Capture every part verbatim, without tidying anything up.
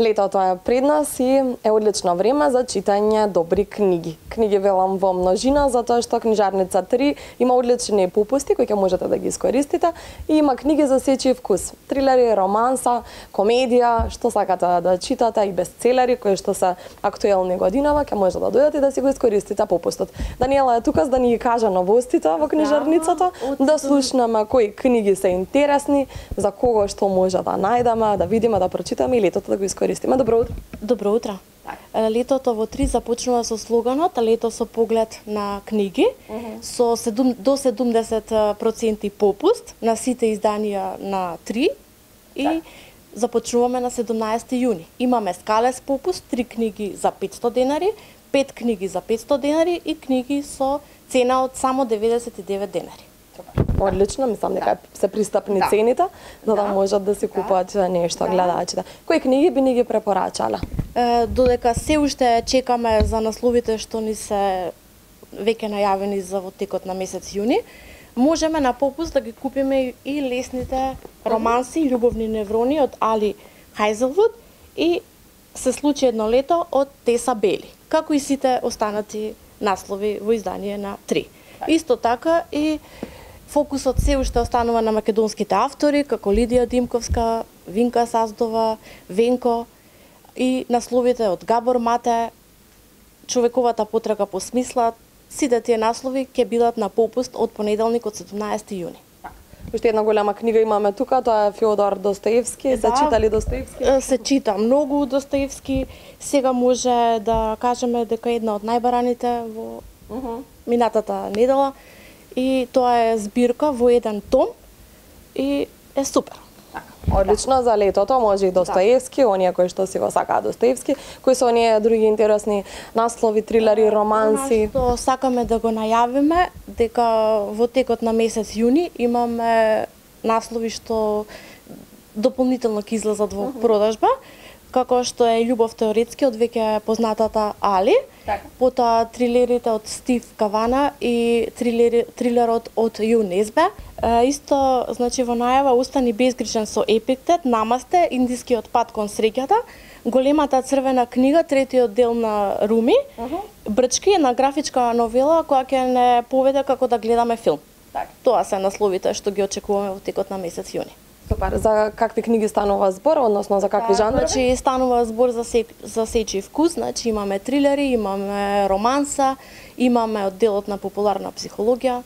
Летото е пред нас и е одлично време за читање добри книги. Книги велам во множина, затоа што книжарница три има одлични попусти кои ќе можете да ги искористите и има книги за сечи вкус. Трилери, романса, комедија, што сакате да читате и бестселери кои што се актуелни годинава, ќе можете да дојдете и да си го искористите попустот. Даниела е тука за да ни ги каже новостите во книжарницата, да слушнеме кои книги се интересни, за кого што може да најдеме, да видиме, да прочитаме и летото да го искористиме. Добро утро. Добро утро. Летото во три започнува со слоганот "Лето со поглед на книги", uh -huh. со седум, до седумдесет проценти попуст на сите изданија на три и так. Започнуваме на седумнаесети јуни. Имаме скалес попуст, три книги за петсто денари, пет книги за петсто денари и книги со цена од само деветдесет и девет денари. Одлично, мислам дека да. се пристапни да. цените, за да, да можат да се купат да. нешто да. гледачите. Кои книги би ни ги препорачале? Е, додека се уште чекаме за насловите што ни се веќе најавени за во текот на месец јуни, можеме на попуст да ги купиме и лесните романси "Љубовни неврони" од Али Хајзелвуд и "Се случи едно лето" од Теса Бели, како и сите останати наслови во издание на три. Исто така и фокусот се уште останува на македонските автори, како Лидија Димковска, Винка Саздова, Венко и насловите од Габор Мате, "Човековата потрага по смисла". Сите тие наслови ќе бидат на попуст од понеделник од седумнаесети јуни. Уште една голема книга имаме тука, тоа е Фјодор Достоевски. Да, се читали Достоевски? Се чита многу Достоевски. Сега може да кажеме дека една од најбараните во uh -huh. минатата недела. И тоа е збирка во еден том и е супер. Одлично да. за летото, може и Достоевски, да. оние кои што си го сакаат Достоевски, кои се оние други интересни наслови, трилери, романси. Што сакаме да го најавиме дека во текот на месец јуни имаме наслови што дополнително ќе излезат во uh -huh. продажба, како што е "Љубов теоретски" од веќе познатата Али, така. Потоа трилерите од Стив Кавана и трилери, трилерот од Ю Несбе. Е, исто, значи во најава "Остани безгрижен" со Епиктет, "Намасте", "Индискиот пат кон среќата", "Големата црвена книга", третиот дел на Руми, uh -huh. "Брчки", една графичка новела која ќе не поведе како да гледаме филм. Так. Тоа се насловите што ги очекуваме во текот на месец јуни. Супер. За какви книги станува збор, односно за какви да, жанрови? Значи станува збор за се, за сечи вкус, значи имаме трилери, имаме романса, имаме одделот на популарна психологија.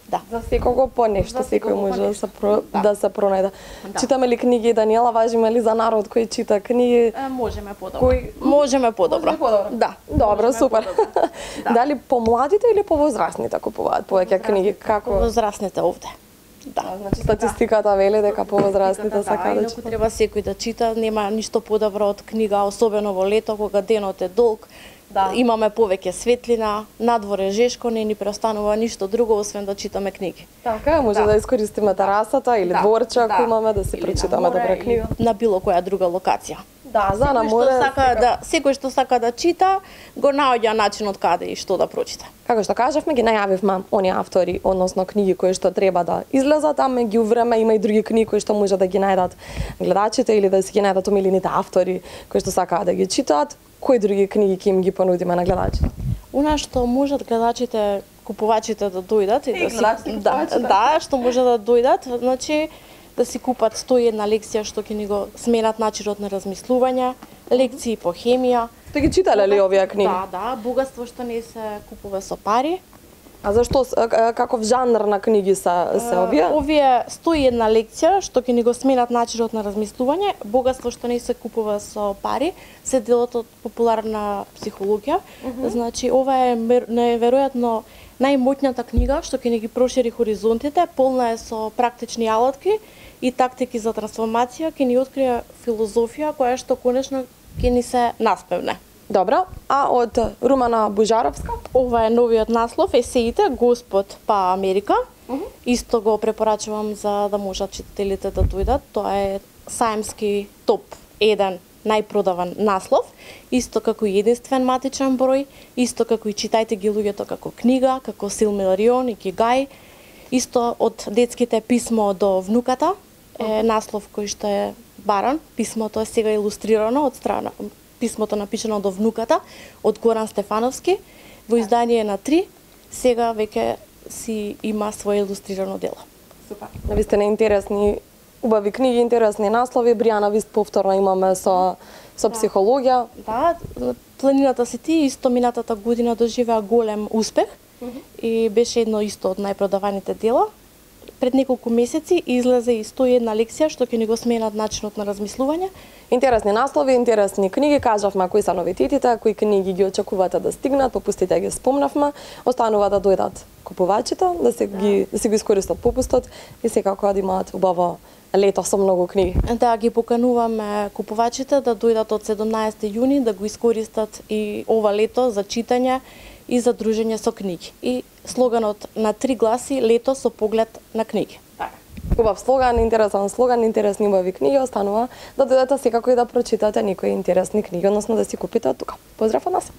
Да. За секого по нешто, секој може да се про, да. да се пронајде. Да. Читаме ли книги, Даниела, важиме ли за народ кој чита книги? Е, можеме подобро. Кој... Можеме подобро. Може подобро. Да. Добро, можеме супер. Подобро. Да. Дали помладите или повозрастните купуваат повеќе книги? Како? Повозрастните овде. Да, значи статистиката вели дека повозрастните сакаат да читаат. Треба секој да чита, нема ништо подобро од книга, особено во лето кога денот е долг. Да. Имаме повеќе светлина, надвор е жешко, не ни преостанува ништо друго освен да читаме книги. Така, може да, да искористиме терасата или да. дворче ако да. имаме да си прочитаме добра книга. На било која друга локација. Да, за на море. Сака да, секој што сака да чита, го наоѓа начин од каде и што да прочита. Како што кажавме, ги најавивме оние автори, односно книги кои што треба да излезат, а меѓу време има и други книги кои што може да ги најдат гледачите или да си ги најдат омилените автори кои што сакаат да ги читаат. Кои други книги ќе им ги понудиме на гледачите? Она што можат гледачите, купувачите да дојдат и, и да си да, да, што може да дојдат, значи да си купат сто и една лекција што ќе ни го сменат начинот на размислување, лекции по хемија. Сте ги читале ли овие книги? Да, да, богатство што не се купува со пари. А зашто, каков жанр на книги се, се овие? Овие сто и една лекција што ќе ни го сменат начинот на размислување, богатство што не се купува со пари, се делот од популарна психологија. Uh -huh. Значи, ова е неверојатно најмоќната книга што ќе ни ги прошири хоризонтите, полна е со практични алатки и тактики за трансформација, ќе ни открие филозофија која што конечно ќе ни се наспевне. Добро, а од Румана Бужаровска? Ова е новиот наслов, есеите "Господ па Америка". Uh -huh. Исто го препорачувам за да можат читателите да дојдат. Тоа е саемски топ еден најпродаван наслов, исто како и единствен матичен број, исто како и "Читајте ги луѓето" како книга, како Силмарион и Икигај, исто од детските "Писмо до внуката", е наслов кој што е баран. Писмото е сега илустрирано од страна, писмото напишано до внуката од Горан Стефановски во издание на три, сега веќе си има свое илустрирано дело. Супер. Навистина интересни, убави книги, интересни наслови. Бријана Вист повторно имаме со со Да. психологија. Да, Планината си ти исто минатата година доживеа голем успех и беше едно исто од најпродаваните дела. Пред неколку месеци излезе и сто и една лекција што ќе ни го сменат начинот на размислување. Интересни наслови, интересни книги, кажавме кои се новитетите, кои книги ги очекувате да стигнат, попустите ги спомнавме, останува да дојдат купувачите, да се ги да се го искористат попустот и секако да имаат убаво лето со многу книги. Да, ги покануваме купувачите да дојдат од седумнаесети јуни да го искористат и ова лето за читање и за дружење со книги. И слоганот на три гласи лето со поглед на книги. Убав слоган, интересен слоган, интересни убави книги, останува да дојдете секако и да прочитате некои интересни книги, односно да си купите од тука. Поздрав од нас!